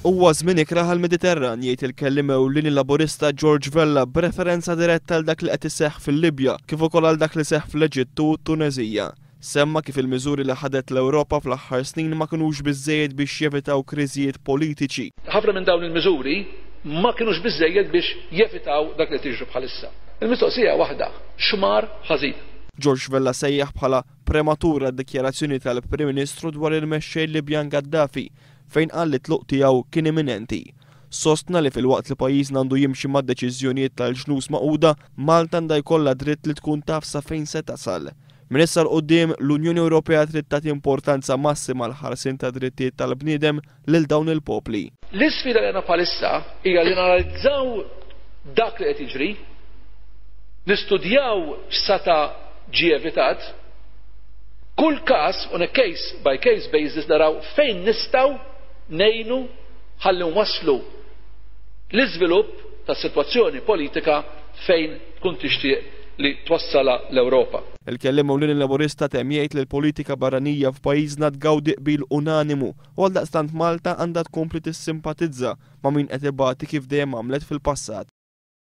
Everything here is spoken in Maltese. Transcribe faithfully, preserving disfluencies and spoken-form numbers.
Huwa żmien ikrah għall-Mediterran, jgħid il-kelliem ewlieni Laburista George Vella b'referenza diretta għal dak li qed iseħħ fil-Libja kif ukoll għal dak li seħħ fl-Eġittu u t-Tuneżija. Semma kif il-miżuri li ħadet l-Ewropa fl-aħħar snin ma kinux biżżejjed biex jevitaw kriżijiet politiċi. Ħafna minn dawn il-miżuri ma kinux biżżejjed biex jevitaw dak li tiġri bħalissa. Il-mistoqsija waħda, x'mar ħażin? George Vella sejjaħ bħala prematura d-dikjarazzjoni tal-Prim Ministru dwar il-mexxej Libjan Gaddafi, fejn qal li t-tluq tiegħu kien imminenti. Sostna li filwaqt li pajjiżna għandu jimxi mad-deċiżjonijiet tal-Ġnus Magħquda, Malta għandha jkollha dritt li tkun taf sa fejn se tasal. Minn issa 'l quddiem, l-Unjoni Ewropea trid tagħti importanza massima għall-ħarsien tad-drittijiet tal-bniedem lil dawn il-popli. L-isfida li għandna bħalissa hija li nanalizzaw dak li qed jiġri, nistudjaw x'seta' ġie evitat, kull każ on a case by case basis naraw fejn nistgħu ngħinu ħalli nwasslu l-iżvilupp tas-sitwazzjoni politika fejn tkun tixtieq li twassalha l-Ewropa. Il-kelliem ewlieni Laburista temm jgħid li l-politika barranija f'pajjiżna tgawdi qbil unanimu u għaldaqstant Malta għandha tkompli tissimpatizza ma' min qed ibati kif dejjem għamlet fil-passat.